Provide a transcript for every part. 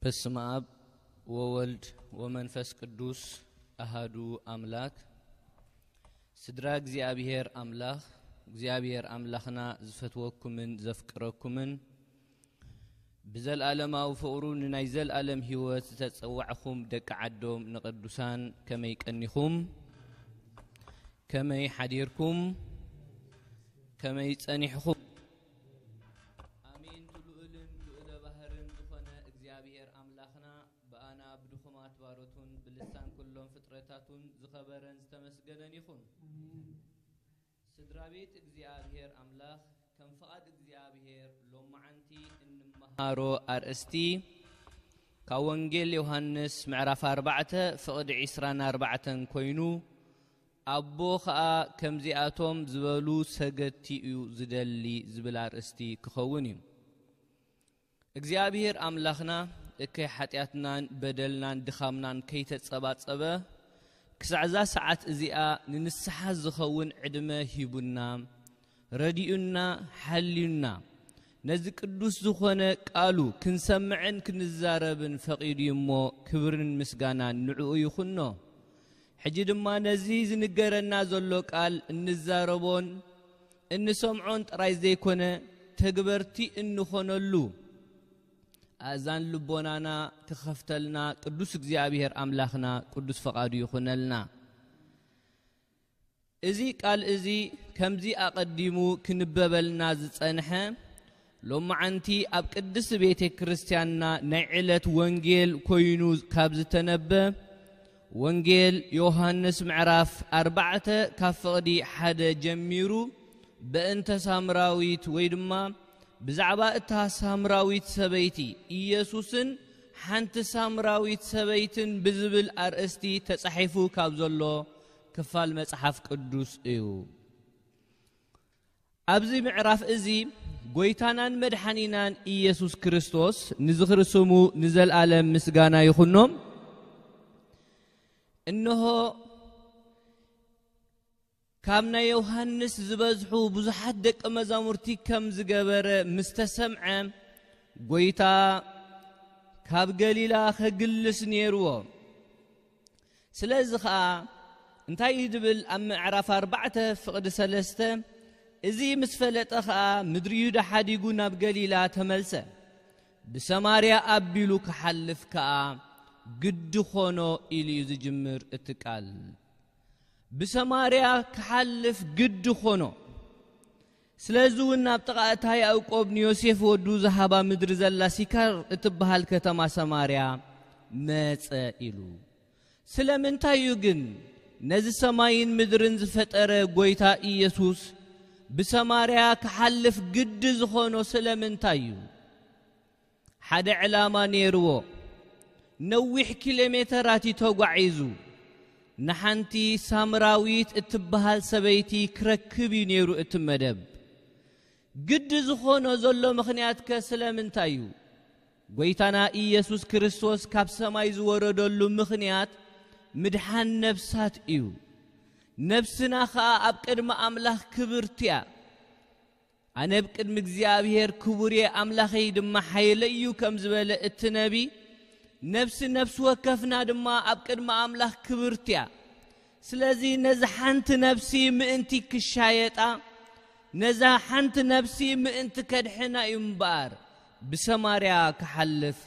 በስመ አብ ወወልድ ወመንፈስ ቅዱስ አሃዱ አምላክ። ስድራ እግዚኣብሔር አምላኽ፣ እግዚኣብሔር ኣምላኽና ዝፈትወኩምን ዘፍቅረኩምን ብዘልኣለማዊ ፍቕሩ ንናይ ዘልኣለም ህይወት ዝተጸዋዕኹም ደቂ ዓዶም ንቅዱሳን ከመይ ቀኒኹም? ከመይ ሓዲርኩም? ከመይ ጸኒሕኹም? ኣሜን። ልዑልን ልዑለ ባህርን ዝኾነ እግዚኣብሔር ኣምላኽና ብኣና ብድኹማት ባሮቱን ብልሳን ኩሎም ፍጥረታቱን ዝኸበረን ዝተመስገነን ይኹን። ስድራ ቤት እግዚኣብሔር ኣምላኽ ከም ፍቓድ እግዚኣብሔር ሎመዓንቲ እንመሃሮ ኣርእስቲ ካብ ወንጌል ዮሃንስ ምዕራፍ ኣርባዕተ ፍቕዲ ዒስራን ኣርባዕተን ኮይኑ፣ ኣቦ ኸኣ ከምዚኣቶም ዝበሉ ሰገድቲ እዩ ዝደሊ ዝብል ኣርእስቲ ክኸውን እዩ። እግዚኣብሔር ኣምላኽና እከይ ሓጢኣትናን በደልናን ድኻምናን ከይተጸባጸበ፣ ክሳዕ እዛ ሰዓት እዚኣ ንንስሓ ዝኸውን ዕድመ ሂቡና፣ ረዲኡና፣ ሓልዩና፣ ነዚ ቅዱስ ዝኾነ ቃሉ ክንሰምዕን ክንዛረብን ፈቒዱ እዩ እሞ፣ ክብርን ምስጋናን ንዕኡ ይኹኖ። ሕጂ ድማ ነዚ ዝንገረና ዘሎ ቃል እንዛረቦን እንሰምዖን ጥራይ ዘይኮነ፣ ተግበርቲ እንኾነሉ ኣእዛን ልቦናና ክኸፍተልና ቅዱስ እግዚኣብሔር ኣምላኽና ቅዱስ ፈቓዱ ይኹነልና። እዚ ቃል እዚ ከምዚ ኣቐዲሙ ክንበበልና ዝጸንሐ፣ ሎመዓንቲ ኣብ ቅድስቲ ቤተ ክርስቲያንና ናይ ዕለት ወንጌል ኮይኑ ካብ ዝተነበ፣ ወንጌል ዮሃንስ ምዕራፍ ኣርባዕተ ካብ ፍቕዲ ሓደ ጀሚሩ፣ በእንተ ሳምራዊት ወይ ድማ ብዛዕባ እታ ሳምራዊት ሰበይቲ፣ ኢየሱስን ሓንቲ ሳምራዊት ሰበይትን ብዝብል ኣርእስቲ ተጻሒፉ ካብ ዘሎ ክፋል መጽሓፍ ቅዱስ እዩ። ኣብዚ ምዕራፍ እዚ፣ ጐይታናን መድሓኒናን ኢየሱስ ክርስቶስ ንዝኽሪ ስሙ ንዘልኣለም ምስጋና ይኹኖ። እንሆ፣ ካብ ናይ ዮሃንስ ዝበዝሑ ብዙሓት ደቀ መዛሙርቲ ከም ዝገበረ ምስ ተሰምዐ፣ ጐይታ ካብ ገሊላ ኸግልስ ነይርዎ። ስለዚ ኸኣ እንታይ እዩ ድብል ኣብ ምዕራፍ ኣርባዕተ ፍቕዲ ሰለስተ፣ እዚ ምስ ፈለጠ ኸኣ ምድሪ ይሁዳ ሓዲጉ ናብ ገሊላ ተመልሰ። ብሰማርያ ኣቢሉ ክሓልፍ ከኣ ግዲ ኾኖ ኢሉ እዩ ዝጅምር እቲ ቃል። ብሰማርያ ክሓልፍ ግዲ ኾኖ። ስለዚ እውን ናብ ጥቓ እታ ያዕቆብ ንዮሴፍ ወዱ ዝሃባ ምድሪ ዘላ ሲካር እትበሃል ከተማ ሰማርያ መጸ ኢሉ። ስለምንታይ እዩ ግን ነዚ ሰማይን ምድርን ዝፈጠረ ጐይታ ኢየሱስ ብሰማርያ ክሓልፍ ግዲ ዝኾኖ ስለምንታይ እዩ? ሓደ ዕላማ ነይርዎ። ነዊሕ ኪሎ ሜተራት እዩ ተጓዒዙ። ንሓንቲ ሳምራዊት እትበሃል ሰበይቲ ክረክብ እዩ ነይሩ እቲ መደብ። ግዲ ዝኾኖ ዘሎ ምኽንያትከ ስለምንታይ እዩ? ጐይታና ኢየሱስ ክርስቶስ ካብ ሰማይ ዝወረደሉ ምኽንያት ምድሓን ነፍሳት እዩ። ነፍስና ኸኣ ኣብ ቅድሚ ኣምላኽ ክብርቲ እያ። ኣነ ኣብ ቅድሚ እግዚኣብሔር ክቡር እየ፣ ኣምላኸይ ድማ ሓይለይ እዩ ከም ዝበለ እቲ ነቢ፣ ነፍሲ ነፍሲ ወከፍና ድማ ኣብ ቅድሚ ኣምላኽ ክብርቲ እያ። ስለዚ ነዛ ሓንቲ ነፍሲ ምእንቲ ክሻየጣ፣ ነዛ ሓንቲ ነፍሲ ምእንቲ ከድሕና እዩ እምበኣር ብሰማርያ ክሓልፍ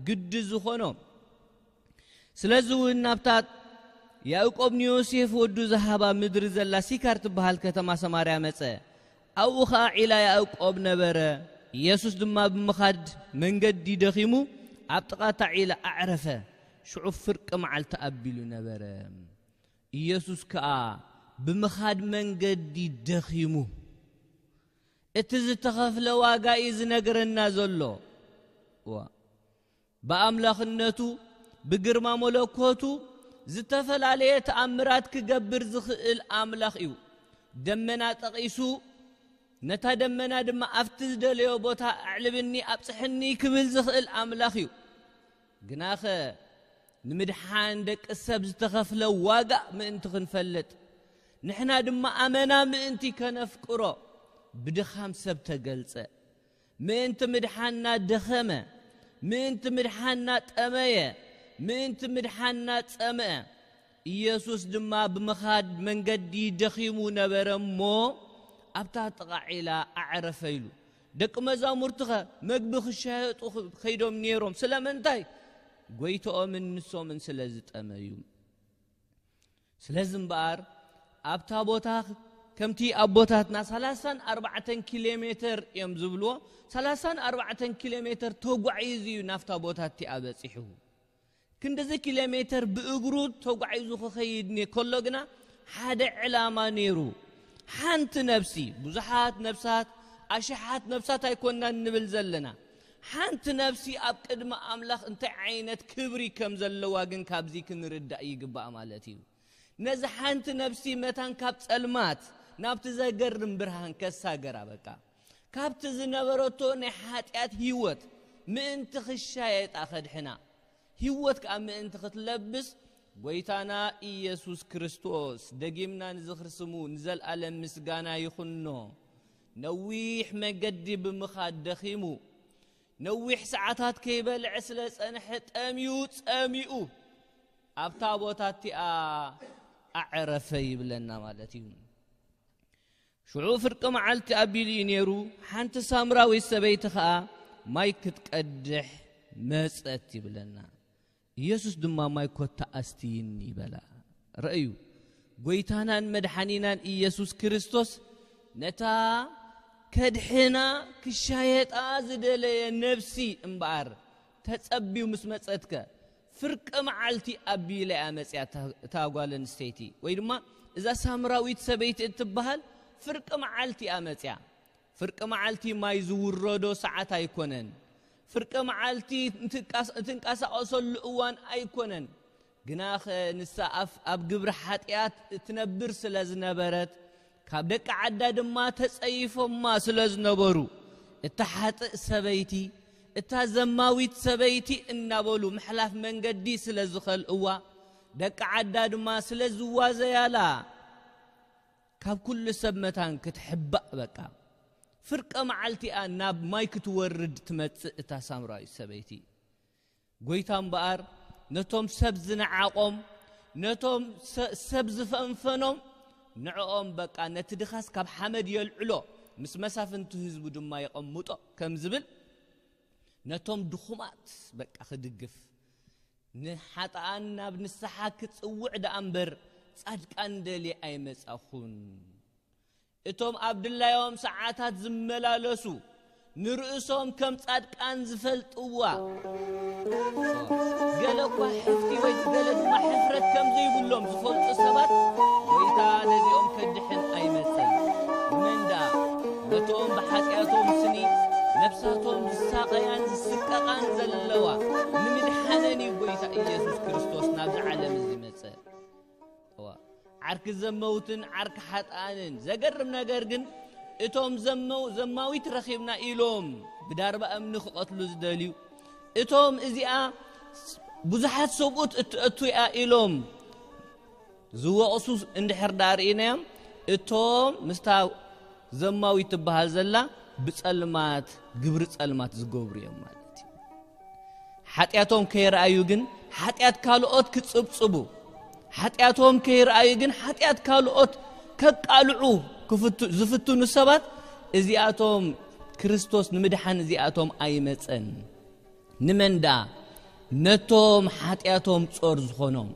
ግዲ ዝኾኖ። ስለዚ እውን ናብታ ያዕቆብ ንዮሴፍ ወዱ ዝሃባ ምድሪ ዘላ ሲካር ትበሃል ከተማ ሰማርያ መጸ። ኣብኡ ኸኣ ዒላ ያዕቆብ ነበረ። ኢየሱስ ድማ ብምኻድ መንገዲ ደኺሙ ኣብ ጥቓ እታ ዒላ ኣዕረፈ። ሽዑ ፍርቂ መዓልቲ ኣቢሉ ነበረ። ኢየሱስ ከኣ ብምኻድ መንገዲ ደኺሙ። እቲ ዝተኸፍለ ዋጋ እዩ ዝነግረና ዘሎ። እዋ። ብኣምላኽነቱ፣ ብግርማ መለኮቱ ዝተፈላለየ ተኣምራት ክገብር ዝኽእል ኣምላኽ እዩ። ደመና ጠቒሱ፣ ነታ ደመና ድማ ኣብቲ ዝደለዮ ቦታ ኣዕልብኒ፣ ኣብጽሕኒ ክብል ዝኽእል ኣምላኽ እዩ። ግናኸ ንምድሓን ደቂ ሰብ ዝተኸፍለ ዋጋ ምእንቲ ክንፈልጥ፣ ንሕና ድማ ኣመና ምእንቲ ከነፍቅሮ ብድኻም ሰብ ተገልጸ። ምእንቲ ምድሓንና ደኸመ፣ ምእንቲ ምድሓና ጠመየ፣ ምእንቲ ምድሓና ጸምአ። ኢየሱስ ድማ ብምኻድ መንገዲ ደኺሙ ነበረ እሞ፣ ኣብታ ጥቓ ዒላ ኣዕረፈ ኢሉ። ደቂ መዛሙርትኸ መግቢ ክሻየጡ ኸይዶም ነይሮም። ስለምንታይ? ጎይትኦምን ንሶምን ስለ ዝጠመዩ። ስለዚ እምበኣር ኣብታ ቦታ ከምቲ ኣቦታትና ሰላሳን ኣርባዕተን ኪሎ ሜተር እዮም ዝብልዎ፣ ሰላሳን ኣርባዕተን ኪሎ ሜተር ተጓዒዙ እዩ ናብታ ቦታ እቲኣ በጺሑ። ክንድዚ ኪሎ ሜተር ብእግሩ ተጓዒዙ ክኸይድ ነ-፣ ከሎ ግና ሓደ ዕላማ ነይሩ። ሓንቲ ነፍሲ፣ ብዙሓት ነፍሳት፣ ኣሽሓት ነፍሳት ኣይኮናን ንብል ዘለና። ሓንቲ ነፍሲ ኣብ ቅድሚ ኣምላኽ እንታይ ዓይነት ክብሪ ከም ዘለዋ ግን ካብዚ ክንርዳእ ይግባእ ማለት እዩ። ነዚ ሓንቲ ነፍሲ መታን ካብ ጸልማት ናብቲ ዘገርም ብርሃን ከሳገራ በቃ። ካብቲ ዝነበረቶ ናይ ሓጢኣት ህይወት ምእንቲ ክሻየጣ ከድሕና፣ ህይወት ከኣ ምእንቲ ክትለብስ፣ ጎይታና ኢየሱስ ክርስቶስ ደጊምና ንዝኽሪ ስሙ ንዘለኣለም ምስጋና ይኹኖ። ነዊሕ መገዲ ብምኻድ ደኺሙ፣ ነዊሕ ሰዓታት ከይበልዐ ስለ ጸንሐ ጠምዩ፣ ጸሚኡ፣ ኣብታ ቦታ እቲኣ ኣዕረፈ ይብለና ማለት እዩ። ሽዑ ፍርቂ መዓልቲ ኣቢሉ እዩ ነይሩ። ሓንቲ ሳምራዊት ሰበይቲ ኸኣ ማይ ክትቀድሕ መጸት ይብለና። ኢየሱስ ድማ ማይ ኮታ ኣስትይኒ ይበላ። ረእዩ፣ ጎይታናን መድሓኒናን ኢየሱስ ክርስቶስ ነታ ከድሕና ክሻየጣ ዝደለየ ነፍሲ እምበኣር ተጸብዩ ምስ መጸትከ፣ ፍርቂ መዓልቲ ኣቢላ እያ መጽያ እታ፣ እታ ጓል ኣንስተይቲ፣ ወይ ድማ እዛ ሳምራዊት ሰበይቲ እትበሃል ፍርቂ መዓልቲ እያ መጽያ። ፍርቂ መዓልቲ ማይ ዝውረዶ ሰዓት ኣይኮነን። ፍርቂ መዓልቲ እንትንቃስ-፣ እንትንቀሳቐሰሉ እዋን ኣይኮነን። ግናኸ ንሳ ኣፍ-፣ ኣብ ግብሪ ሓጢኣት እትነብር ስለ ዝነበረት፣ ካብ ደቂ ዓዳ ድማ ተጸይፎማ ስለ ዝነበሩ፣ እታ ሓጥእ ሰበይቲ፣ እታ ዘማዊት ሰበይቲ እናበሉ ምሕላፍ መንገዲ ስለ ዝኸልእዋ፣ ደቂ ዓዳ ድማ ስለ ዝዋዘያላ፣ ካብ ኩሉ ሰብ መታን ክትሕባእ በቃ። ፍርቂ መዓልቲኣ ናብ ማይ ክትወርድ ትመጽእ እታ ሳምራዊት ሰበይቲ። ጎይታ እምበኣር ነቶም ሰብ ዝነዓቖም፣ ነቶም ሰ-፣ ሰብ ዝፈንፈኖም፣ ንዕኦም በቃ ነቲ ድኻስ ካብ ሓመድ የልዕሎ፣ ምስ መሳፍንቲ ህዝቡ ድማ የቐምጦ ከም ዝብል፣ ነቶም ድኹማት በቃ ክድግፍ፣ ንሓጥኣን ናብ ንስሓ ክጽውዕ ደኣ እምበር፣ ጻድቃን ደልየ ኣይመጻኹን። እቶም ኣብ ድላዮም ሰዓታት ዝመላለሱ፣ ንርእሶም ከም ጻድቃን ዝፈልጥዋ፣ ገለ እኳ ሕፍቲ ወይ ገለ ድማ ሕፍረት ከም ዘይብሎም ዝፈልጡ ሰባት፣ ጎይታ ነዚኦም ከድሕን ኣይመጸን። መን ደኣ? ነቶም ብሓጢኣቶም ስኒ ነፍሳቶም ዝሳቐያን ዝስቀቓን ዘለዋ፣ ንምድሓነን እዩ ጎይታ ኢየሱስ ክርስቶስ ናብዚ ዓለም እዚ መጸ። እዋ፣ ዓርኪ ዘመውትን ዓርኪ ሓጥኣንን። ዘገርም ነገር ግን፣ እቶም ዘመው-፣ ዘማዊት ረኺብና ኢሎም ብዳርባ እምኒ ክቐትሉ ዝደልዩ፣ እቶም እዚኣ ስ-፣ ብዙሓት ሰብኡት እትእቱ እያ ኢሎም ዝወቕሱ እንድሕር ደኣ ርኢናዮም፣ እቶም ምስታ ዘማዊት ትበሃል ዘላ ብጸልማት፣ ግብሪ ጸልማት ዝገብሩ እዮም ማለት እዩ። ሓጢኣቶም ከይረኣዩ ግን፣ ሓጢኣት ካልኦት ክጽብጽቡ፣ ሓጢኣቶም ከይረኣዩ ግን፣ ሓጢኣት ካልኦት ከቃልዑ ክፍቱ-፣ ዝፍትኑ ሰባት፣ እዚኣቶም ክርስቶስ ንምድሓን እዚኣቶም ኣይመጸን። ንመን ደኣ? ነቶም ሓጢኣቶም ጾር ዝኾኖም፣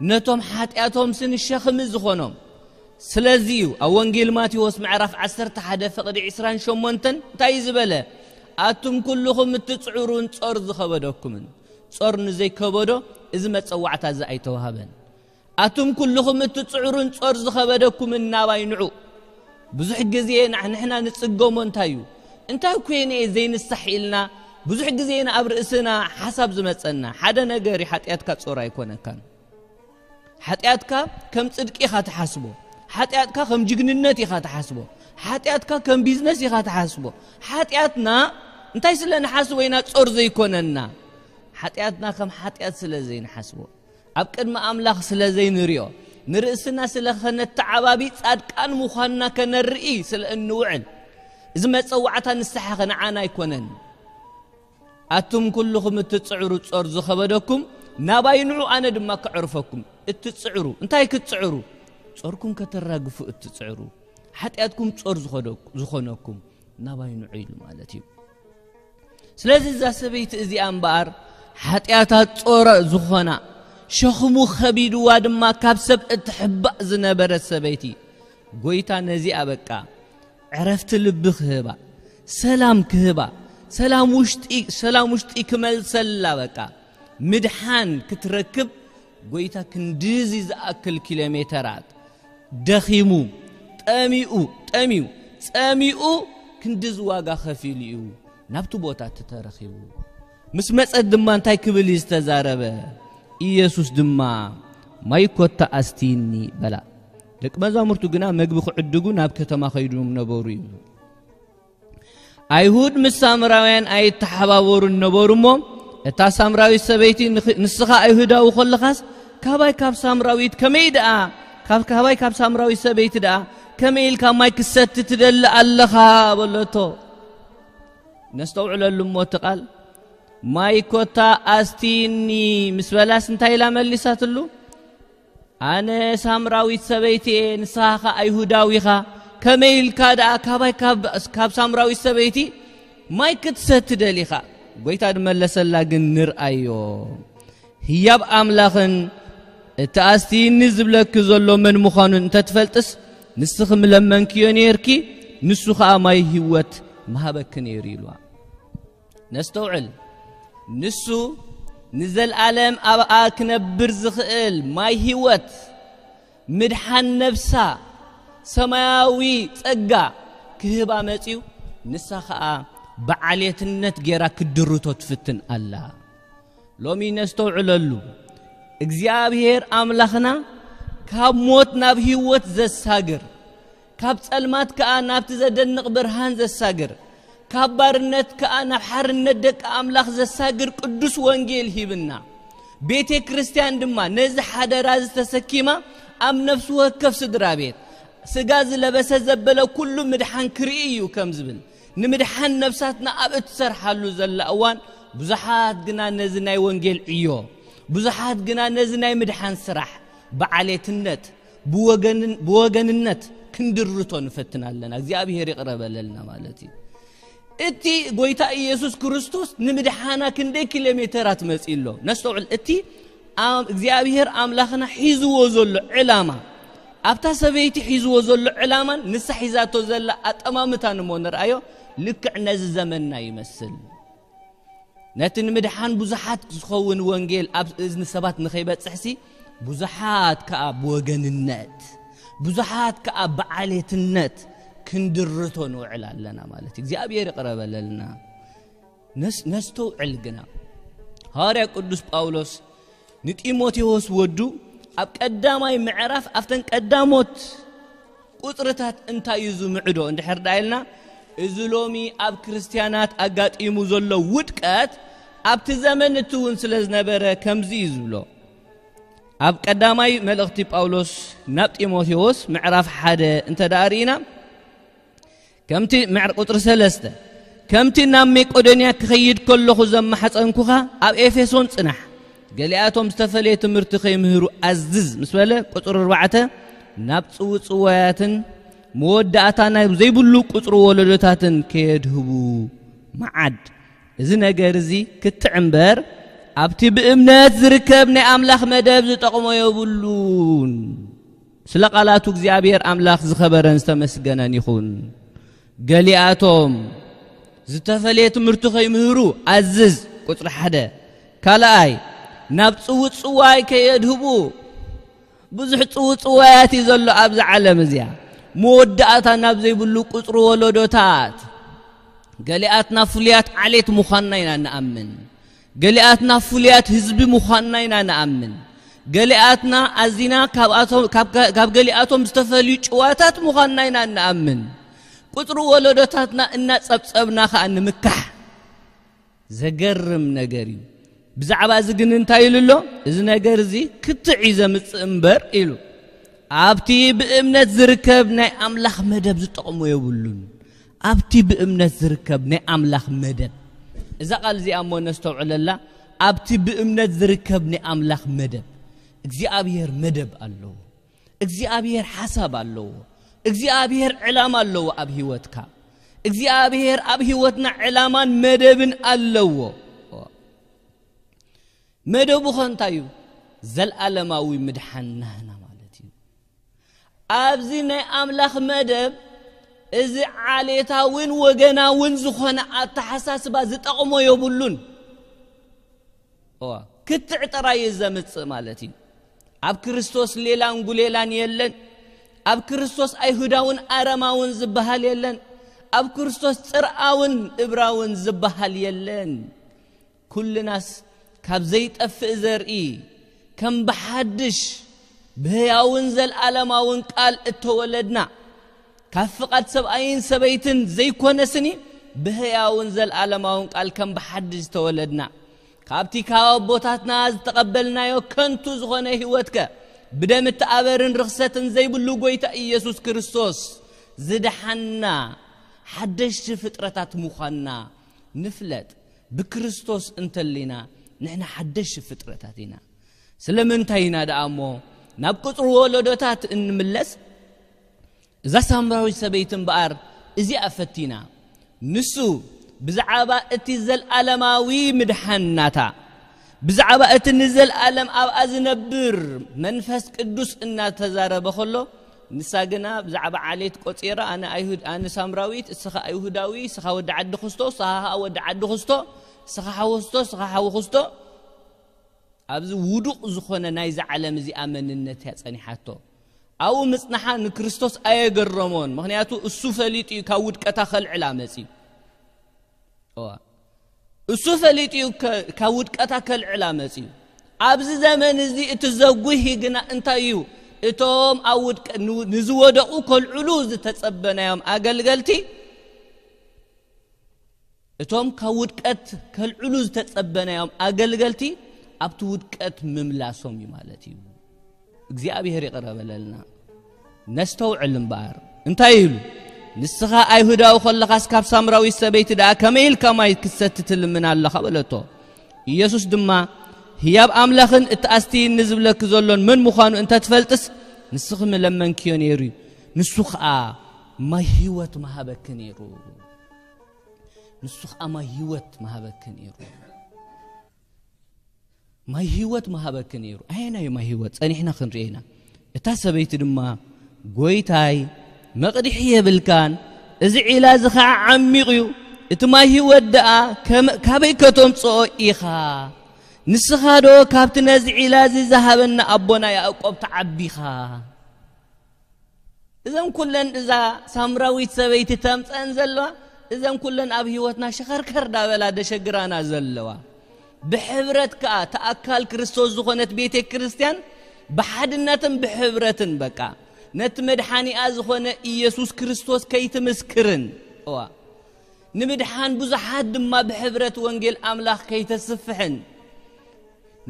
ነቶም ሓጢኣቶም ስኒ ሸኽሚ ዝኾኖም። ስለዚ እዩ ኣብ ወንጌል ማቴዎስ ምዕራፍ ዓሰርተ ሓደ ፍቕዲ ዕስራን ሸሞንተን እንታይ እዩ ዝበለ? ኣቱም ኩልኹም እትጽዕሩን ጾር ዝኸበደኩምን። ጾር ንዘይከበዶ እዚ መጸዋዕታ እዚ ኣይተዋህበን። ኣቱም ኩልኹም እትጽዕሩን ጾር ዝኸበደኩምን ናባይ ንዑ። ብዙሕ ግዜ ንሕ-፣ ንሕና ንጽገሞ እንታይ እዩ? እንታይ ኮይነ እየ ዘይንሳሕ ኢልና ብዙሕ ግዜ ኢና ኣብ ርእስና ሓሳብ ዝመጸና። ሓደ ነገር እዩ፣ ሓጢኣትካ ጾር ኣይኮነካን። ሓጢኣትካ ከም ጽድቂ ኢኻ ትሓስቦ። ሓጢኣትካ ከም ጅግንነት ኢኻ ትሓስቦ። ሓጢኣትካ ከም ቢዝነስ ኢኻ ትሓስቦ። ሓጢኣትና እንታይ ስለ ንሓስቦ ኢና ጾር ዘይኮነና? ሓጢኣትና ከም ሓጢኣት ስለ ዘይንሓስቦ፣ ኣብ ቅድሚ ኣምላኽ ስለ ዘይንሪኦ፣ ንርእስና ስለ ኸነተዓባቢ ጻድቃን ምዃንና ከነርኢ ስለ እንውዕል፣ እዚ መጸዋዕታ ንስሓ ኸ ንዓና ኣይኮነን። ኣቱም ኩልኹም እትጽዕሩ ጾር ዝኸበደኩም፣ ናባይ ንዑ፣ ኣነ ድማ ከዕርፈኩም። እትጽዕሩ፣ እንታይ ክትጽዕሩ? ጾርኩም ከተራግፉ እትጽዕሩ፣ ሓጢኣትኩም ጾር ዝኾነኩ-፣ ዝኾነኩም፣ ናባይ ንዑ ኢሉ ማለት እዩ። ስለዚ እዛ ሰበይቲ እዚኣ እምበኣር ሓጢኣታት ጾረ ዝኾና፣ ሸኽሙ ኸቢድዋ ድማ ካብ ሰብ እትሕባእ ዝነበረት ሰበይቲ፣ ጎይታ ነዚኣ በቃ ዕረፍቲ ልቢ ክህባ፣ ሰላም ክህባ፣ ሰላም ውሽጢ፣ ሰላም ውሽጢ ክመልሰላ በቃ ምድሓን ክትረክብ ጎይታ ክንድዚ ዝኣክል ኪሎ ሜተራት ደኺሙ፣ ጠሚኡ፣ ጠሚዩ፣ ጸሚኡ ክንድዚ ዋጋ ከፊሉ እዩ ናብቲ ቦታ እቲ ተረኺቡ። ምስ መጸት ድማ እንታይ ክብል እዩ ዝተዛረበ? ኢየሱስ ድማ፣ "ማይ ኮታ ኣስትይኒ" በላ። ደቂ መዛሙርቱ ግና መግቢ ክዕድጉ ናብ ከተማ ኸይዶም ነበሩ እዩ። ኣይሁድ ምስ ሳምራውያን ኣይተሓባበሩን ነበሩ እሞ፣ እታ ሳምራዊት ሰበይቲ፣ "ንኽ-፣ ንስኻ ኣይሁዳዊ ኾለኻስ፣ ካባይ ካብ ሳምራዊት ከመይ ደኣ፣ ካብ፣ ካባይ ካብ ሳምራዊት ሰበይቲ ደኣ ከመይ ኢልካ ማይ ክሰቲ ትደሊ ኣለኻ?" በለቶ። ነስተውዕለሉ እሞ እቲ ቃል፣ "ማይ ኮታ ኣስትይኒ" ምስ በላስ እንታይ ኢላ መሊሳትሉ? "ኣነ ሳምራዊት ሰበይቲ እየ፣ ንስኻ ኸኣ ኣይሁዳዊ ኢኻ፣ ከመይ ኢልካ ደኣ ካባይ ካብ፣ ካብ ሳምራዊት ሰበይቲ ማይ ክትሰቲ ደሊኻ?" ጎይታ ድመለሰላ ግን ንርኣዮ። ህያብ ኣምላኽን እቲ ኣስትይኒ ዝብለኪ ዘሎ መን ምዃኑ እንተትፈልጥስ፣ ንስኺ ምለመንክዮ ነይርኪ፣ ንሱ ኸኣ ማይ ህይወት ምሃበኪ ነይሩ ኢልዋ። ነስተውዕል። ንሱ ንዘልኣለም ኣብኣ ክነብር ዝኽእል ማይ ህይወት፣ ምድሓን ነብሳ፣ ሰማያዊ ጸጋ ክህባ መጺኡ፣ ንሳ ኸኣ ብዓሌትነት ጌራ ክድርቶ ትፍትን ኣላ። ሎሚ ነስተውዕለሉ። እግዚኣብሔር ኣምላኽና ካብ ሞት ናብ ህይወት ዘሳግር፣ ካብ ጸልማት ከኣ ናብቲ ዘደንቕ ብርሃን ዘሳግር፣ ካብ ባርነት ከኣ ናብ ሓርነት ደቂ ኣምላኽ ዘሳግር ቅዱስ ወንጌል ሂብና። ቤተ ክርስቲያን ድማ ነዚ ሓደራ ዝተሰኪማ ኣብ ነፍሲ ወከፍ ስድራ ቤት፣ ስጋ ዝለበሰ ዘበለ ኩሉ ምድሓን ክርኢ እዩ ከም ዝብል፣ ንምድሓን ነፍሳትና ኣብ እትሰርሓሉ ዘላ እዋን፣ ብዙሓት ግና ነዚ ናይ ወንጌል ዕዮ፣ ብዙሓት ግና ነዚ ናይ ምድሓን ስራሕ ብዓሌትነት፣ ብወገንን-፣ ብወገንነት ክንድርቶ ንፈትን ኣለና። እግዚኣብሔር ይቕረ በለልና ማለት እዩ። እቲ ጎይታ ኢየሱስ ክርስቶስ ንምድሓና ክንደይ ኪሎ ሜተራት መጺኡ ኣሎ? ነስተውዕል። እቲ ኣም-፣ እግዚኣብሔር ኣምላኽና ሒዝዎ ዘሎ ዕላማ፣ ኣብታ ሰበይቲ ሒዝዎ ዘሎ ዕላማን ንሳ ሒዛቶ ዘላ ኣጠማምታን እሞ ንርኣዮ፣ ልክዕ ነዚ ዘመንና ይመስል። ነቲ ንምድሓን ብዙሓት ዝኸውን ወንጌል ኣብ እዝኒ ሰባት ንኸይበጽሕሲ፣ ብዙሓት ከኣ ብወገንነት፣ ብዙሓት ከኣ ብዓሌትነት ክንድርቶ ንውዕል ኣለና ማለት እዩ። እግዚኣብሔር ይቕረ በለልና። ነስ-፣ ነስተውዕል ግና። ሃዋርያ ቅዱስ ጳውሎስ ንጢሞቴዎስ ወዱ ኣብ ቀዳማይ ምዕራፍ ኣብተን ቀዳሞት ቁጽርታት እንታይ እዩ ዝምዕዶ እንድሕር ደኣ ኢልና፣ እዚ ሎሚ ኣብ ክርስትያናት ኣጋጢሙ ዘሎ ውድቀት ኣብቲ ዘመን እቲ እውን ስለ ዝነበረ ከምዚ እዩ ዝብሎ። ኣብ ቀዳማይ መልእኽቲ ጳውሎስ ናብ ጢሞቴዎስ ምዕራፍ ሓደ እንተ ደኣ ርኢና፣ ከምቲ ምዕር-፣ ቁጽሪ ሰለስተ፣ "ከምቲ ናብ መቄዶንያ ክኸይድ ከለኹ ዘመሓጸንኩኻ፣ ኣብ ኤፌሶን ጽናሕ፣ ገሊኣቶም ዝተፈልየ ትምህርቲ ከይምህሩ ኣዝዝ" ምስ በለ፣ ቁጽሪ ኣርባዕተ፣ "ናብ ጽውጽዋያትን መወዳእታ ናይ ዘይብሉ ቁጽሪ ወለዶታትን ከየድህቡ መዓድ። እዚ ነገር እዚ ክትዕ እምበር፣ ኣብቲ ብእምነት ዝርከብ ናይ ኣምላኽ መደብ ዝጠቕሞ የብሉን።" ስለ ቃላቱ እግዚኣብሔር ኣምላኽ ዝኸበረን ዝተመስገነን ይኹን። ገሊኣቶም ዝተፈልየ ትምህርቲ ከይምህሩ ኣዝዝ፣ ቁጽሪ ሓደ። ካልኣይ፣ ናብ ጽውጽዋይ ከየድህቡ፣ ብዙሕ ጽውጽዋያት እዩ ዘሎ ኣብዛ ዓለም እዚኣ። መወዳእታ ናብ ዘይብሉ ቁጽሪ ወለዶታት። ገሊኣትና ፍሉያት ዓሌት ምዃንና ኢና ንኣምን። ገሊኣትና ፍሉያት ህዝቢ ምዃንና ኢና ንኣምን። ገሊኣትና ኣዚና ካብኣቶም፣ ካብ፣ ካብ ገሊኣቶም ዝተፈልዩ ጭዋታት ምዃንና ኢና ንኣምን። ቁጽሪ ወለዶታትና እናጸብጸብና ኸኣ ንምካሕ። ዘገርም ነገር እዩ። ብዛዕባ እዚ ግን እንታይ ኢሉ ኣሎ? "እዚ ነገር እዚ ክትዕ እዩ ዘምጽእ እምበር" ኢሉ። "ኣብቲ ብእምነት ዝርከብ ናይ ኣምላኽ መደብ ዝጠቕሞ የብሉን።" ኣብቲ ብእምነት ዝርከብ ናይ ኣምላኽ መደብ። እዛ ቃል እዚኣ እሞ ነስተውዕለላ። ኣብቲ ብእምነት ዝርከብ ናይ ኣምላኽ መደብ፣ እግዚኣብሔር መደብ ኣለዎ። እግዚኣብሔር ሓሳብ ኣለዎ። እግዚኣብሔር ዕላማ ኣለዎ ኣብ ህይወትካ። እግዚኣብሔር ኣብ ህይወትና ዕላማን መደብን ኣለዎ። መደቡ ኸ እንታይ እዩ? ዘልኣለማዊ ምድሓን ናህና ማለት እዩ። ኣብዚ ናይ ኣምላኽ መደብ፣ እዚ ዓሌታውን ወገናውን ዝኾነ ኣተሓሳስባ ዝጠቕሞ የብሉን። እዋ፣ ክትዕ ጥራይ እዩ ዘምጽእ ማለት እዩ። ኣብ ክርስቶስ ሌላን ጉሌላን የለን። ኣብ ክርስቶስ ኣይሁዳውን ኣረማውን ዝበሃል የለን። ኣብ ክርስቶስ ጽርኣውን እብራውን ዝበሃል የለን። ኩልናስ ካብ ዘይጠፍእ ዘርኢ፣ ከም ብሓድሽ ብህያውን ዘልኣለማውን ቃል እተወለድና፣ ካብ ፍቓድ ሰብኣይን ሰበይትን ዘይኮነ ስኒ፣ ብህያውን ዘልኣለማውን ቃል ከም ብሓድሽ ዝተወለድና፣ ካብቲ ካብ ኣቦታትና ዝተቐበልናዮ ከንቱ ዝኾነ ህይወትከ፣ ብደም እተኣበርን ርኽሰትን ዘይብሉ ጐይታ ኢየሱስ ክርስቶስ ዝደሓና ሓደሽቲ ፍጥረታት ምዃንና ንፍለጥ። ብክርስቶስ እንተሊና፣ ንሕና ሓደሽቲ ፍጥረታት ኢና። ስለምንታይ ኢና ደኣ እሞ ናብ ቁጽሪ ወለዶታት እንምለስ? እዛ ሳምራዊት ሰበይቲ እምበኣር እዚኣ ፈቲና። ንሱ ብዛዕባ እቲ ዘልኣለማዊ ምድሓን ናታ፣ ብዛዕባ እቲ ንዘልኣለም ኣብኣ ዝነብር መንፈስ ቅዱስ እናተዛረበ ከሎ፣ ንሳ ግና ብዛዕባ ዓሌት ቆጺራ፣ ኣነ ኣይሁድ፣ ኣነ ሳምራዊት፣ እስኻ ኣይሁዳዊ፣ እስኻ ወዲ ዓዲ ክስቶ፣ እስኻ ወዲ ዓዲ ክስቶ፣ እስኻ ሓወስቶ፣ እስኻ ሓዊ ክስቶ፣ ኣብዚ ውዱቕ ዝኾነ ናይዛ ዓለም እዚኣ መንነት እያ ጸኒሓቶ። ኣብኡ ምጽናሓ ንክርስቶስ ኣየገረሞን፣ ምኽንያቱ እሱ ፈሊጡ እዩ ካብ ውድቀታ ከልዕላ መጺኡ። እዋ። እሱ ፈሊጡ እዩ ከ-፣ ካብ ውድቀታ ከልዕላ መጺኡ። ኣብዚ ዘመን እዚ እቲ ዘጉሂ ግና እንታይ እዩ? እቶም ኣብ ውድቀ-፣ ን-፣ ንዝወደቑ ከልዕሉ ዝተጸበናዮም ኣገልገልቲ፣ እቶም ካብ ውድቀት ከልዕሉ ዝተጸበናዮም ኣገልገልቲ ኣብቲ ውድቀት ምምላሶም እዩ ማለት እዩ። እግዚኣብሔር ይቕረ በለልና። ነስተውዕል እምበኣር። እንታይ ኢሉ? ንስኻ ኣይሁዳዊ ከለኻስ ካብ ሳምራዊት ሰበይቲ ደኣ ከመይ ኢልካ ማይ ክትሰቲ ትልምን ኣለኻ? በለቶ። ኢየሱስ ድማ፣ ህያብ ኣምላኽን እቲ ኣስትይኒ ዝብለኪ ዘሎን መን ምዃኑ እንተ ትፈልጥስ፣ ንስኺ ምለመንክዮ ነይሩ እዩ። ንሱ ኸኣ ማይ ህይወት ምሃበኪ ነይሩ። ንሱ ኸኣ ማይ ህይወት ምሃበኪ ነይሩ። ማይ ህይወት ምሃበኪ ነይሩ። ኣየናይ እዩ ማይ ህይወት? ጸኒሕና ክንርእዮ ኢና። እታ ሰበይቲ ድማ፣ "ጐይታይ፣ መቕድሒ የብልካን፣ እዚ ዒላ እዚ ኸዓ ዓሚቕ እዩ። እቲ ማይ ህይወት ደኣ ከመ-፣ ካበይ ከተምጽኦ ኢኻ? ንስኻ ዶ ካብቲ ነዚ ዒላ እዚ ዝሃበና ኣቦና ያዕቆብ ትዓቢ ኢኻ?" እዘን ኩለን እዛ ሳምራዊት ሰበይቲ ተምፀን ዘለዋ፣ እዘን ኩለን ኣብ ህይወትና ሸኸርከር ዳበላ ደሸግራና ዘለዋ። ብሕብረት ከኣ ተኣካል ክርስቶስ ዝኾነት ቤተ ክርስቲያን ብሓድነትን ብሕብረትን በቃ ነቲ መድሓኒኣ ዝኾነ ኢየሱስ ክርስቶስ ከይትምስክርን፣ እዋ፣ ንምድሓን ብዙሓት ድማ ብሕብረት ወንጌል ኣምላኽ ከይተስፍሕን፣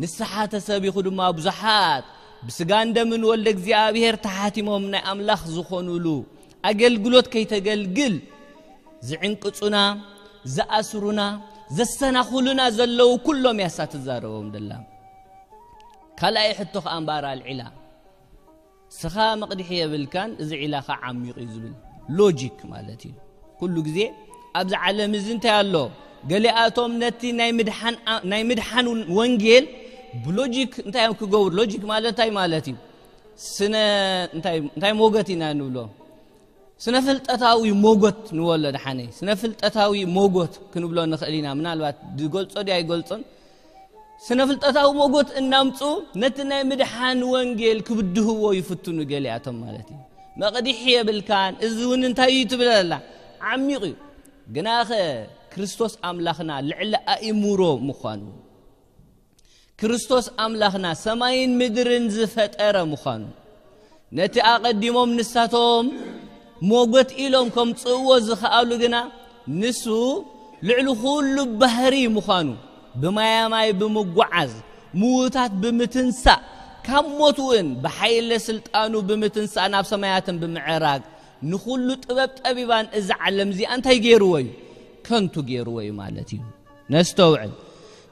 ንስሓ ተሰቢኹ ድማ ብዙሓት ብስጋን ደምን ወልደ እግዚኣብሔር ተሓቲሞም ናይ ኣምላኽ ዝኾኑሉ ኣገልግሎት ከይተገልግል ዝዕንቅጹና፣ ዝኣስሩና፣ ዘሰናኹሉና ዘለዉ ኩሎም እያ እሳ ትዛረቦም ደላ። ካልኣይ ሕቶ ከኣ እምበኣር ኣልዒላ። ስኻ መቕድሒ የብልካን፣ እዚ ዒላ ኸዓ ዓሚቕ እዩ ዝብል ሎጂክ ማለት እዩ። ኩሉ ግዜ ኣብዚ ዓለም እዚ እንታይ ኣሎ? ገሊኣቶም ነቲ ናይ ምድሓን፣ ናይ ምድሓን ወንጌል ብሎጂክ እንታይ እዮም ክገብሩ? ሎጂክ ማለት እንታይ ማለት እዩ? ስነ፣ እንታይ፣ እንታይ ሞገት ኢና ንብሎ? ስነ ፍልጠታዊ ሞጎት ንበሎ ደሓነይ። ስነ ፍልጠታዊ ሞጎት ክንብሎ ንኽእል ኢና። ምናልባት ዝገልጾ ድዩ ኣይገልጾን? ስነ ፍልጠታዊ ሞጎት እናምጹ ነቲ ናይ ምድሓን ወንጌል ክብድህዎ ይፍትኑ ገሊኣቶም ማለት እዩ። መቕድሒ የብልካን፣ እዚ እውን እንታይ እዩ ትብል ኣላ? ዓሚቕ እዩ። ግናኸ ክርስቶስ ኣምላኽና ልዕሊ ኣእምሮ ምዃኑ፣ ክርስቶስ ኣምላኽና ሰማይን ምድርን ዝፈጠረ ምዃኑ፣ ነቲ ኣቐዲሞም ንሳቶም ሞጎት ኢሎም ከምጽእዎ ዝኸኣሉ ግና፣ ንሱ ልዕሊ ኩሉ ባህሪ ምዃኑ፣ ብማያማይ ብምጓዓዝ፣ ምዉታት ብምትንሳእ፣ ካብ ሞት እውን ብሓይለ ስልጣኑ ብምትንሳእ ናብ ሰማያትን ብምዕራግ፣ ንኹሉ ጥበብ ጠቢባን እዛ ዓለም እዚኣ እንታይ ገይርዎ እዩ? ከንቱ ገይርዎ እዩ ማለት እዩ። ነስተውዕል።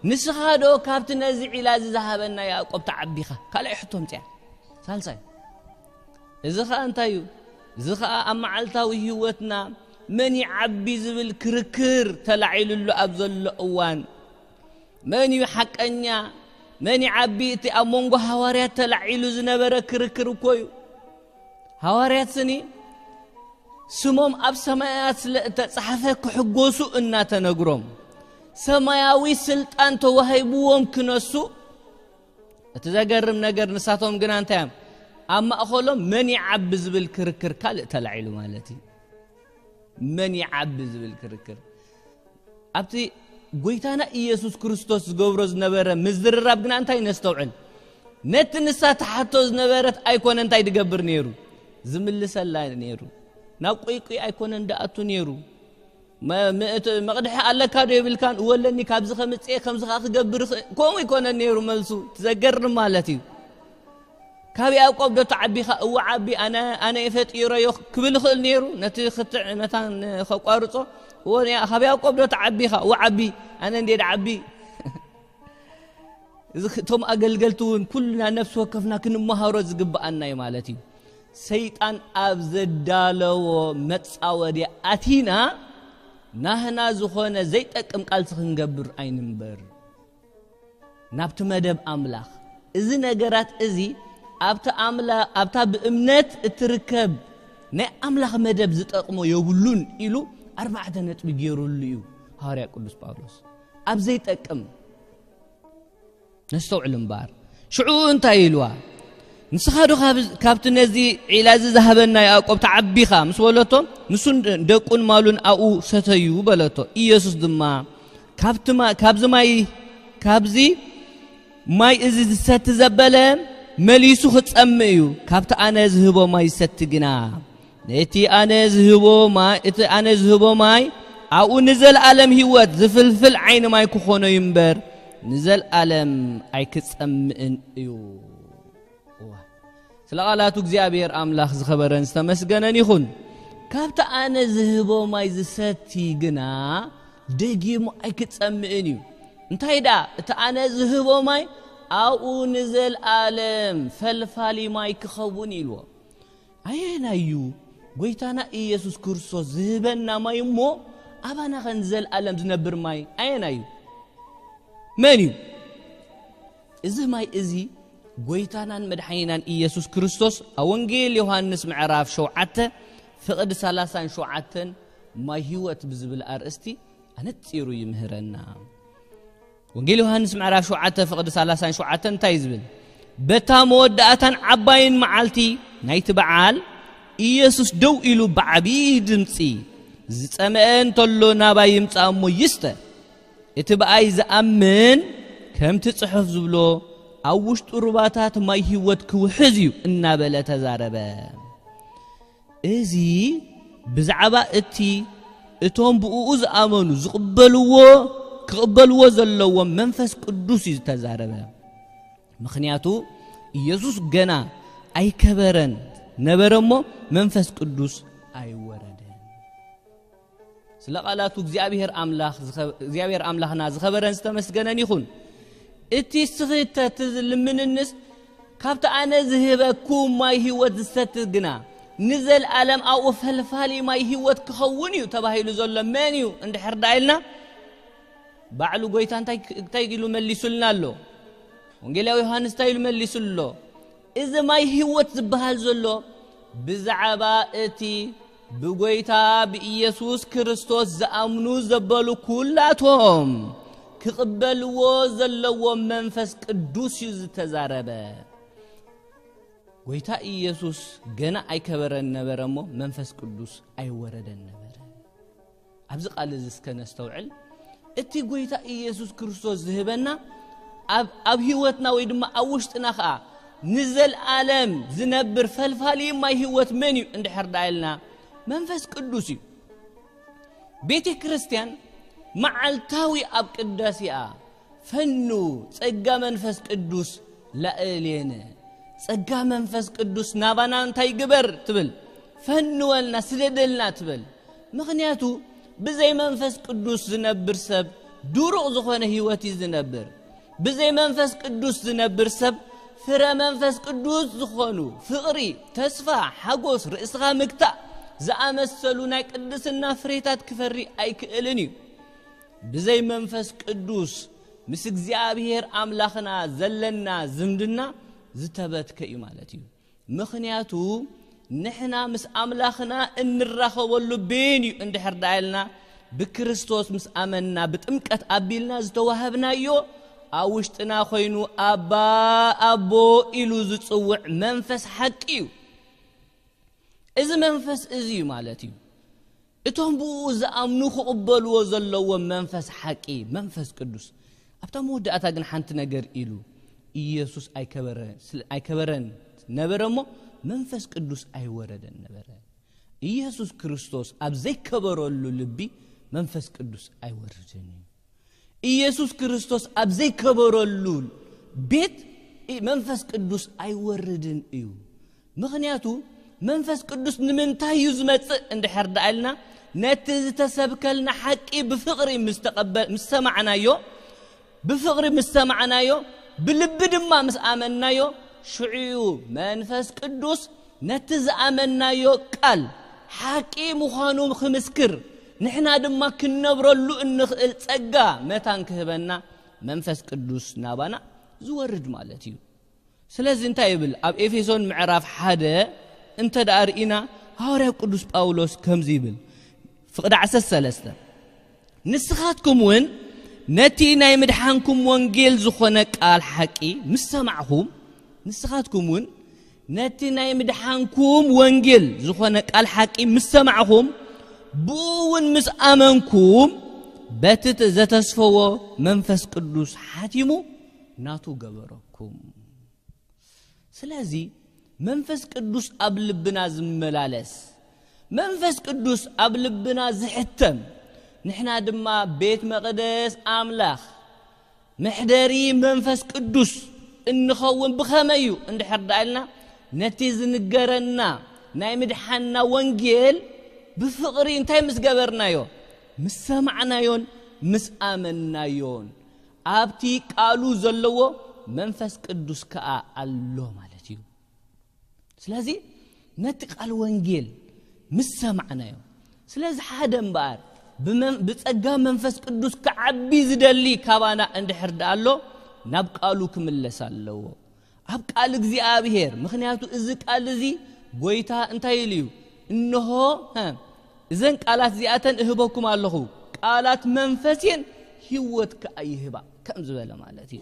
ንስኻ ዶ ካብቲ ነዚ ዒላ እዚ ዝሃበና ያዕቆብ ተዓቢኻ? ካልኣይ ሕቶ ምጽያ። ሳልሳይ፣ እዚ ኸኣ እንታይ እዩ? እዚ ኸኣ ኣብ መዓልታዊ ህይወትና መን ይዓቢ ዝብል ክርክር ተላዒሉሉ ኣብ ዘሎ እዋን፣ መን እዩ ሓቀኛ፣ መን ይዓቢ? እቲ ኣብ መንጎ ሃዋርያት ተላዒሉ ዝነበረ ክርክር እኮ እዩ። ሃዋርያት ስኒ ስሞም ኣብ ሰማያት ስለ እተጻሕፈ ክሕጎሱ እናተነግሮም፣ ሰማያዊ ስልጣን ተዋሂብዎም ክነሱ፣ እቲ ዘገርም ነገር ንሳቶም ግና እንታይ እዮም? ኣብ ማእኸሎም መን ይዓቢ ዝብል ክርክር ካልእ ተላዒሉ ማለት እዩ። መን ይዓቢ ዝብል ክርክር። ኣብቲ ጎይታና ኢየሱስ ክርስቶስ ዝገብሮ ዝነበረ ምዝርራብ ግና እንታይ ነስተውዕል? ነቲ ንሳ ትሓቶ ዝነበረት ኣይኮነ እንታይ ድገብር ነይሩ? ዝምልሰላ ነይሩ። ናብ ቁይቁይ ኣይኮነን ድኣቱ ነይሩ። መ-፣ መ-፣ እቲ መቕድሒ ኣለካ ዶ የብልካን? እወ ኣለኒ፣ ካብዚ ከምጽኤ ከምዚ ኸኣ ክገብር ይኽእል። ከምኡ ኣይኮነን ነይሩ መልሱ። ትዘገርም ማለት እዩ። ካብ ያዕቆብ ዶ ተዓቢኻ? እወ ዓቢ፣ ኣነ፣ ኣነ እየ ፈጢረዮ ክብል ይኽእል ነይሩ። ነቲ ክትዕ መታን ከቋርጾ። እወ፣ ያ-፣ ካብ ያዕቆብ ዶ ተዓቢኻ? እወ ዓቢ፣ ኣነ እንዴ ድዓቢ። እዚ ክ-፣ እቶም ኣገልገልቲ እውን ኩልና ነፍሲ ወከፍና ክንመሃሮ ዝግብኣና እዩ ማለት እዩ። ሰይጣን ኣብ ዘዳለዎ መጻወድያ ኣቲና ናህና ዝኾነ ዘይጠቅም ቃልሲ ክንገብር ኣይንንበር። ናብቲ መደብ ኣምላኽ። እዚ ነገራት እዚ ኣብቲ ኣምላ-፣ ኣብታ ብእምነት እትርከብ ናይ ኣምላኽ መደብ ዝጠቕሞ የብሉን ኢሉ ኣርባዕተ ነጥቢ ገይሩሉ እዩ ሃዋርያ ቅዱስ ጳውሎስ። ኣብ ዘይጠቅም ነስተውዕል እምበኣር። ሽዑ እንታይ ኢልዋ? ንስኻ ዶ ካብ-፣ ካብቲ ነዚ ዒላ እዚ ዝሃበና ያዕቆብ ተዓቢኻ? ምስ በለቶ፣ ንሱን ደቁን ማሉን ኣብኡ ሰተዩ በለቶ። ኢየሱስ ድማ፣ ካብቲ ማ-፣ ካብዚ ማይ፣ ካብዚ ማይ እዚ ዝሰቲ ዘበለ መሊሱ ክጸምእ እዩ፣ ካብቲ ኣነ ዝህቦ ማይ ዝሰቲ ግና ነቲ ኣነ ዝህቦ ማይ፣ እቲ ኣነ ዝህቦ ማይ ኣብኡ ንዘለኣለም ህይወት ዝፍልፍል ዓይኒ ማይ ክኾኖ እዩ እምበር፣ ንዘለኣለም ኣይክጸምእን እዩ። እዋ። ስለ ቃላቱ እግዚኣብሔር ኣምላኽ ዝኸበረን ዝተመስገነን ይኹን። ካብቲ ኣነ ዝህቦ ማይ ዝሰቲ ግና ደጊሙ ኣይክጸምእን እዩ። እንታይ ደኣ? እቲ ኣነ ዝህቦ ማይ ኣብኡ ንዘለኣለም ፈልፋሊ ማይ ክኸውን ኢልዎ። ኣየናይ እዩ ጎይታና ኢየሱስ ክርስቶስ ዝህበና ማይ እሞ ኣባና ኸ ንዘለኣለም ዝነብር ማይ ኣየናይ እዩ? መን እዩ? እዚ ማይ እዚ ጎይታናን መድሓኒናን ኢየሱስ ክርስቶስ ኣብ ወንጌል ዮሃንስ ምዕራፍ ሸውዓተ ፍቕዲ ሰላሳን ሸውዓተን ማይ ህይወት ብዝብል ኣርእስቲ ኣነጺሩ ይምህረና። ወንጌል ዮሃንስ ምዕራፍ ሸውዓተ ፍቕዲ ሰላሳን ሸውዓተን እንታይ እዩ ዝብል? በታ መወዳእታን ዓባይን መዓልቲ ናይቲ በዓል ኢየሱስ ደው ኢሉ ብዓብዪ ድምጺ፣ "ዝጸመአ እንተሎ ናባይ ይምጻእ እሞ ይስተ። እቲ ብኣይ ዝኣምን ከምቲ ጽሑፍ ዝብሎ ኣብ ውሽጡ ሩባታት ማይ ህይወት ክውሕዝ እዩ" እናበለ ተዛረበ። እዚ ብዛዕባ እቲ እቶም ብእኡ ዝኣመኑ ዝቕበልዎ፣ ክቕበልዎ ዘለዎም መንፈስ ቅዱስ እዩ ዝተዛረበ። ምኽንያቱ ኢየሱስ ገና ኣይከበረን ነበረ እሞ መንፈስ ቅዱስ ኣይወረደን። ስለ ቃላቱ እግዚኣብሔር ኣምላኽ ዝኸ-፣ እግዚኣብሔር ኣምላኽና ዝኸበረን ዝተመስገነን ይኹን። እቲ ስኽተት ዝልምንንስ ካብቲ ኣነ ዝህበኩም ማይ ህይወት ዝሰቲ ግና ንዘለኣለም ኣብኡ ፈልፋሊ ማይ ህይወት ክኸውን እዩ ተባሂሉ ዘሎ መን እዩ እንድሕር ደኣ ኢልና፣ ባዕሉ ጎይታ እንታይ፣ እንታይ ኢሉ መሊሱልና ኣሎ? ወንጌላዊ ዮሃንስ እንታይ ኢሉ መሊሱሉ ኣሎ? እዚ ማይ ህይወት ዝበሃል ዘሎ ብዛዕባ እቲ ብጎይታ ብኢየሱስ ክርስቶስ ዝኣምኑ ዘበሉ ኩላቶም ክቕበልዎ ዘለዎም መንፈስ ቅዱስ እዩ ዝተዛረበ። ጎይታ ኢየሱስ ገና ኣይከበረን ነበረ እሞ መንፈስ ቅዱስ ኣይወረደን ነበረ። ኣብዚ ቃል እዚ እስከ ነስተውዕል። እቲ ጎይታ ኢየሱስ ክርስቶስ ዝህበና ኣብ፣ ኣብ ህይወትና ወይ ድማ ኣብ ውሽጥና ኸኣ ንዘለኣለም ዝነብር ፈልፋሊ ማይ ህይወት መን እዩ እንድሕር ደኣ ኢልና፣ መንፈስ ቅዱስ እዩ። ቤተ ክርስቲያን መዓልታዊ ኣብ ቅዳሴኣ፣ "ፈኑ ጸጋ መንፈስ ቅዱስ ላእሌነ፣ ጸጋ መንፈስ ቅዱስ ናባና እንታይ ግበር?" ትብል። "ፈንወልና፣ ስደደልና" ትብል። ምኽንያቱ ብዘይ መንፈስ ቅዱስ ዝነብር ሰብ ድሩቕ ዝኾነ ህይወት እዩ ዝነብር። ብዘይ መንፈስ ቅዱስ ዝነብር ሰብ ፍረ መንፈስ ቅዱስ ዝኾኑ ፍቕሪ፣ ተስፋ፣ ሓጎስ፣ ርእስኻ ምግታእ ዝኣመሰሉ ናይ ቅድስና ፍሬታት ክፈሪ ኣይክእልን እዩ። ብዘይ መንፈስ ቅዱስ ምስ እግዚኣብሔር ኣምላኽና ዘለና ዝምድና ዝተበትከ እዩ ማለት እዩ። ምኽንያቱ ንሕና ምስ ኣምላኽና እንራኸበሉ ቤን እዩ እንድሕር ደኣ ኢልና ብክርስቶስ ምስ ኣመንና ብጥምቀት ኣቢልና ዝተዋህብናዮ ኣብ ውሽጥና ኮይኑ ኣባ ኣቦ ኢሉ ዝጽውዕ መንፈስ ሓቂ እዩ። እዚ መንፈስ እዚ እዩ ማለት እዩ። እቶም ብኡ ዝኣምኑ ክቕበልዎ ዘለዎ መንፈስ ሓቂ መንፈስ ቅዱስ ኣብታ መወዳእታ ግን ሓንቲ ነገር ኢሉ ኢየሱስ ኣይከበረ- ስለ- ኣይከበረን ነበረ እሞ መንፈስ ቅዱስ ኣይወረደን ነበረ። ኢየሱስ ክርስቶስ ኣብ ዘይከበረሉ ልቢ መንፈስ ቅዱስ ኣይወርድን እዩ። ኢየሱስ ክርስቶስ ኣብ ዘይከበረሉ ቤት መንፈስ ቅዱስ ኣይወርድን እዩ። ምኽንያቱ መንፈስ ቅዱስ ንምንታይ እዩ ዝመጽእ እንድሕር ደኣ ኢልና ነቲ ዝተሰብከልና ሓቂ ብፍቕሪ ምስ ተቐበ- ምስ ሰማዕናዮ ብፍቕሪ ምስ ሰማዕናዮ ብልቢ ድማ ምስ ኣመንናዮ ሽዑ እዩ መንፈስ ቅዱስ ነቲ ዝኣመንናዮ ቃል ሓቂ ምዃኑ ክምስክር ንሕና ድማ ክንነብረሉ እንኽእል ጸጋ መታን ክህበና መንፈስ ቅዱስ ናባና ዝወርድ ማለት እዩ። ስለዚ እንታይ ይብል ኣብ ኤፌሶን ምዕራፍ ሓደ እንተ ደኣ ርኢና ሃዋርያው ቅዱስ ጳውሎስ ከምዚ ይብል ፍቕዲ ዓሰርተ ሰለስተ ንስኻትኩም እውን ነቲ ናይ ምድሓንኩም ወንጌል ዝኾነ ቃል ሓቂ ምስ ሰማዕኹም ንስኻትኩም እውን ነቲ ናይ ምድሓንኩም ወንጌል ዝኾነ ቃል ሓቂ ምስ ሰማዕኹም ብኡ እውን ምስ ኣመንኩም በቲ ዘተስፈዎ መንፈስ ቅዱስ ሓቲሙ ናቱ ገበረኩም። ስለዚ መንፈስ ቅዱስ ኣብ ልብና ዝመላለስ መንፈስ ቅዱስ ኣብ ልብና ዝሕተም ንሕና ድማ ቤት መቕደስ ኣምላኽ መሕደሪ መንፈስ ቅዱስ እንኸውን ብኸመይ እዩ እንድሕር ደኣ ኢልና ነቲ ዝንገረና ናይ ምድሓንና ወንጌል ብፍቕሪ እንታይ ምስ ገበርናዮ ምስ ሰማዕናዮን ምስ ኣመንናዮን ኣብቲ ቃሉ ዘለዎ መንፈስ ቅዱስ ከኣ ኣሎ ማለት እዩ። ስለዚ ነቲ ቃል ወንጌል ምስ ሰማዕናዮ ስለዚ ሓደ እምበኣር ብጸጋ መንፈስ ቅዱስ ክዓቢ ዝደሊ ካባና እንድሕር ደኣ ኣሎ ናብ ቃሉ ክምለስ ኣለዎ። ኣብ ቃል እግዚኣብሔር ምኽንያቱ እዚ ቃል እዚ ጎይታ እንታይ ኢሉ እዩ? እንሆ እዘን ቃላት እዚኣተን እህበኩም ኣለኹ ቃላት መንፈስ እየን ህይወት ከኣ ይህባ ከም ዝበለ ማለት እዩ።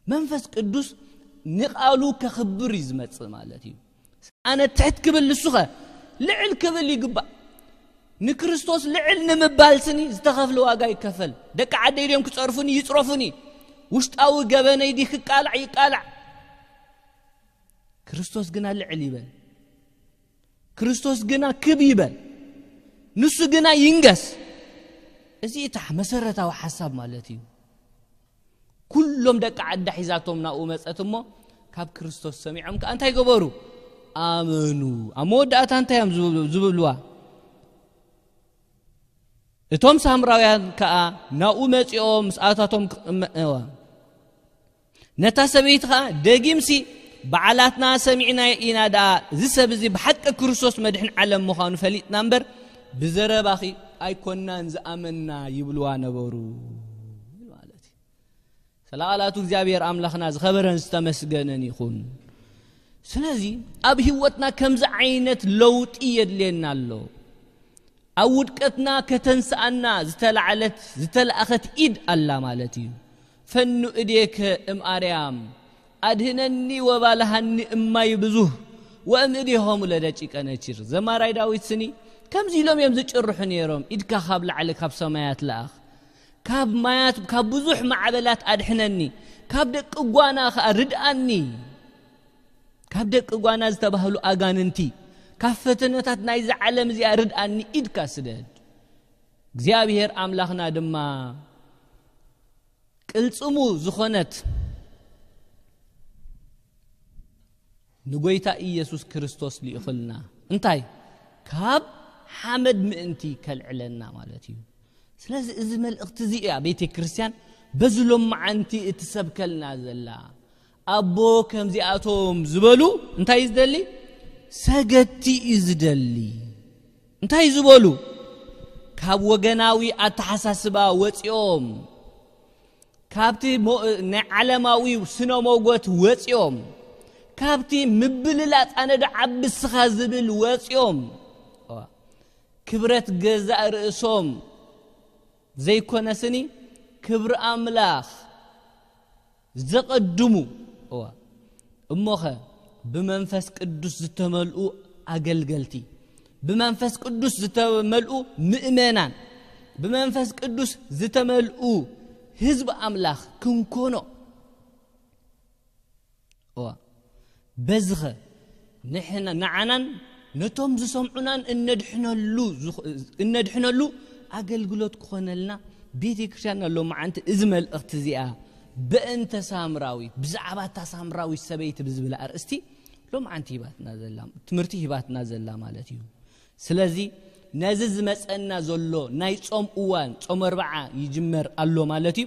መንፈስ ቅዱስ ንቃሉ ከኽብር እዩ ዝመጽእ ማለት እዩ። ኣነ ትሕት ክብል ንሱኸ ልዕል ክብል ይግባእ። ንክርስቶስ ልዕል ንምባል ስኒ ዝተኸፍለ ዋጋ ይከፈል። ደቂ ዓደይ ድዮም ክጸርፉኒ ይጽረፉኒ። ውሽጣዊ ገበነይ ዲ ክቃላዕ ይቃላዕ። ክርስቶስ ግና ልዕል ይበል። ክርስቶስ ግና ክብ ይበል። ንሱ ግና ይንገስ። እዚ እታ መሰረታዊ ሓሳብ ማለት እዩ። ኩሎም ደቂ ዓዳ ሒዛቶም ናብኡ መጸት እሞ ካብ ክርስቶስ ሰሚዖም ከኣ እንታይ ገበሩ? ኣመኑ። ኣብ መወዳእታ እንታይ እዮም ዝብሉ- ዝብልዋ? እቶም ሳምራውያን ከኣ ናብኡ መጺኦም ምስ ኣታቶም ክቕመ- እዋ። ነታ ሰበይቲ ኸኣ ደጊምሲ በዓላትና ሰሚዕና ኢና ደኣ እዚ ሰብ እዚ ብሓቂ ክርስቶስ መድሕን ዓለም ምዃኑ ፈሊጥና እምበር ብዘረባኺ ኣይኮናን ዝኣመንና ይብልዋ ነበሩ ማለት እዩ። ስለ ቃላቱ እግዚኣብሔር ኣምላኽና ዝኸበረን ዝተመስገነን ይኹን። ስለዚ ኣብ ህይወትና ከምዚ ዓይነት ለውጢ የድልየና ኣሎ። ኣብ ውድቀትና ከተንስኣና ዝተላዕለት ዝተላእኸት ኢድ ኣላ ማለት እዩ። ፈኑ እዴከ እም ኣርያም ኣድህነኒ ወባልሃኒ እማይ ብዙህ ወእም እዴሆሙ ለደቂቀ ነቺር። ዘማራይ ዳዊት ስኒ ከምዚ ኢሎም እዮም ዝጭርሑ ነይሮም። ኢድካ ካብ ላዕሊ ካብ ሰማያት ለኣኽ። ካብ ማያት ካብ ብዙሕ ማዕበላት ኣድሕነኒ። ካብ ደቂ ጓና ኸኣ ርድኣኒ። ካብ ደቂ ጓና ዝተባህሉ ኣጋንንቲ ካብ ፈተነታት ናይዚ ዓለም እዚኣ ርድኣኒ ኢድካ ስደድ። እግዚኣብሔር ኣምላኽና ድማ ቅልጽሙ ዝኾነት ንጎይታ ኢየሱስ ክርስቶስ ልኢኹልና እንታይ ካብ ሓመድ ምእንቲ ከልዕለና ማለት እዩ። ስለዚ እዚ መልእኽቲ እዚ እያ ቤተ ክርስቲያን በዚ ሎማዓንቲ እትሰብከልና ዘላ። ኣቦ ከምዚኣቶም ዝበሉ እንታይ እዩ ዝደሊ? ሰገድቲ እዩ ዝደሊ። እንታይ ዝበሉ? ካብ ወገናዊ ኣተሓሳስባ ወፂኦም፣ ካብቲ ሞ-፣ ናይ ዓለማዊ ስነ ሞጎት ወፂኦም፣ ካብቲ ምብልላፅ ኣነ ዶ ዓቢ ስኻ ዝብል ወፂኦም፣ ክብረት ገዛእ ርእሶም ዘይኮነስኒ ክብሪ ኣምላኽ ዘቐድሙ። እዋ፣ እሞኸ ብመንፈስ ቅዱስ ዝተመልኡ ኣገልገልቲ፣ ብመንፈስ ቅዱስ ዝተመልኡ ምእመናን፣ ብመንፈስ ቅዱስ ዝተመልኡ ህዝቢ ኣምላኽ ክንኮኖ። እዋ፣ በዝኸ ንሕና፣ ንዓናን ነቶም ዝሰምዑናን እነድሕነሉ፣ እነድሕነሉ ኣገልግሎት ክኾነልና ቤተ ክርስቲያን ሎማዓንቲ እዚ መልእኽቲ እዚኣ በእንተ ሳምራዊት፣ ብዛዕባ እታ ሳምራዊት ሰበይቲ ብዝብል ኣርእስቲ ሎማዓንቲ ሂባትና ዘላ፣ ትምህርቲ ሂባትና ዘላ ማለት እዩ። ስለዚ ነዚ ዝመጸና ዘሎ ናይ ጾም እዋን፣ ጾም ኣርብዓ ይጅመር ኣሎ ማለት እዩ።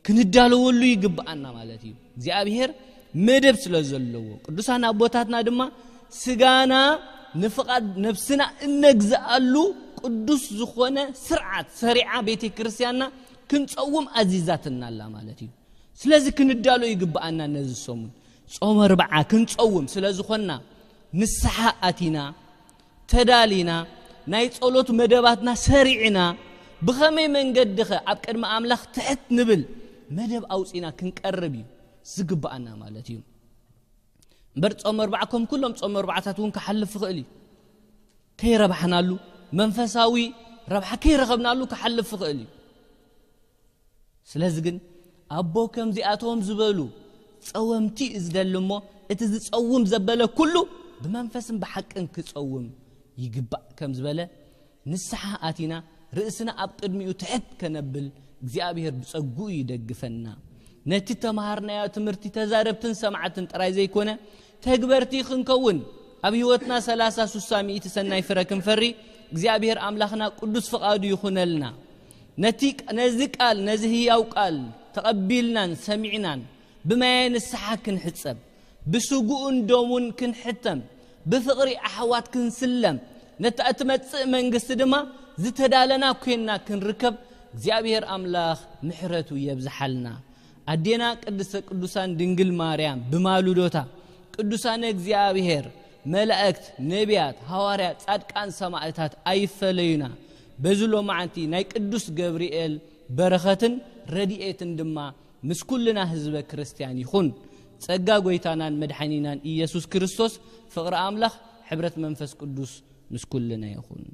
ክንዳለወሉ ይግብኣና ማለት እዩ። እግዚኣብሔር መደብ ስለ ዘለዎ፣ ቅዱሳን ኣቦታትና ድማ ስጋና ንፍቓድ ነብስና እነግዝኣሉ ቅዱስ ዝኾነ ስርዓት ሰሪዓ ቤተ ክርስቲያንና ክንጸውም ኣዚዛትና ኣላ ማለት እዩ። ስለዚ ክንዳሎ ይግብኣና። ነዚ ሰሙን ጾም ኣርብዓ ክንጸውም ስለ ዝኾንና፣ ንስሓ ኣቲና፣ ተዳሊና፣ ናይ ጸሎት መደባትና ሰሪዕና፣ ብኸመይ መንገድኸ ኣብ ቅድሚ ኣምላኽ ትሕት ንብል መደብ ኣውጺና ክንቀርብ እዩ ዝግብኣና ማለት እዩ። እምበር ጾም ኣርብዓ ከም ኩሎም ጾም ኣርብዓታት እውን ክሓልፍ ይኽእል እዩ። ከይረባሕናሉ፣ መንፈሳዊ ረብሓ ከይረኸብናሉ ክሓልፍ ይኽእል እዩ። ስለዚ ግን ኣቦ ከምዚኣቶም ዝበሉ ጸወምቲ እዩ ዝደሊ እሞ፣ እቲ ዝጸውም ዘበለ ኩሉ ብመንፈስን ብሓቅን ክጸውም ይግባእ ከም ዝበለ፣ ንስሓ ኣቲና ርእስና ኣብ ቅድሚኡ ትሕት ከነብል እግዚኣብሔር ብጸግኡ ይደግፈና። ነቲ ተማሃርናዮ ትምህርቲ ተዛረብትን ሰማዕትን ጥራይ ዘይኮነ፣ ተግበርቲ ክንከውን፣ ኣብ ህይወትና ሰላሳ፣ ስሳ፣ ሚእቲ ሰናይ ፍረ ክንፈሪ እግዚኣብሔር ኣምላኽና ቅዱስ ፍቓዱ ይኹነልና። ነቲ፣ ነዚ ቃል፣ ነዚ ህያው ቃል ተቐቢልናን ሰሚዕናን ብማየ ንስሓ ክንሕጸብ፣ ብስግኡን ደሙን ክንሕተም፣ ብፍቕሪ ኣሕዋት ክንስለም፣ ነታ እትመጽእ መንግስቲ ድማ ዝተዳለና ኮይንና ክንርከብ እግዚኣብሔር ኣምላኽ ምሕረቱ የብዝሓልና። ኣዴና ቅድስተ ቅዱሳን ድንግል ማርያም ብማሉዶታ፣ ቅዱሳነ እግዚኣብሔር፣ መላእክት፣ ነቢያት፣ ሃዋርያት፣ ጻድቃን፣ ሰማዕታት ኣይፈለዩና። በዚ ሎማዓንቲ ናይ ቅዱስ ገብርኤል በረኸትን ረድኤትን ድማ ምስ ኩልና ህዝበ ክርስቲያን ይኹን። ጸጋ ጎይታናን መድሓኒናን ኢየሱስ ክርስቶስ፣ ፍቕሪ ኣምላኽ፣ ሕብረት መንፈስ ቅዱስ ምስ ኩልና ይኹን።